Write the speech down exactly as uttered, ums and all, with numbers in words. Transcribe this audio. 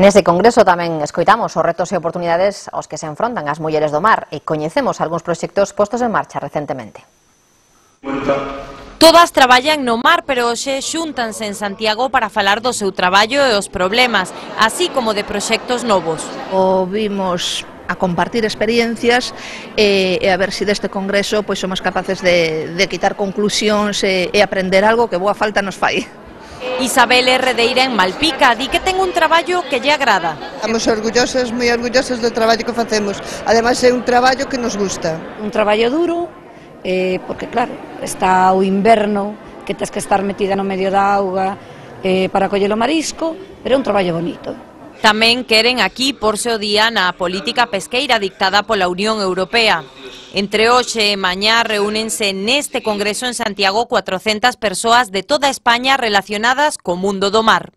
Neste congreso tamén escoitamos os retos e oportunidades aos que se enfrontan as mulleres do mar e coñecemos algúns proxectos postos en marcha recentemente. Todas traballan no mar, pero hoxe xúntanse en Santiago para falar do seu traballo e os problemas, así como de proxectos novos. O vimos a compartir experiencias e, e a ver se deste congreso pois somos capaces de, de quitar conclusións e, e aprender algo que boa falta nos fai. Isabel Herredeira en Malpica di que ten un traballo que lle agrada. Estamos orgullosas, moi orgullosas do traballo que facemos. Ademais é un traballo que nos gusta. Un traballo duro, eh, porque claro, está o inverno, que tens que estar metida no medio da auga eh, para coller o marisco, pero é un traballo bonito. Tamén queren aquí porse o día na política pesqueira dictada pola Unión Europea. Entre hoxe e mañá reúnense neste congreso en Santiago cuatrocentas persoas de toda España relacionadas co mundo do mar.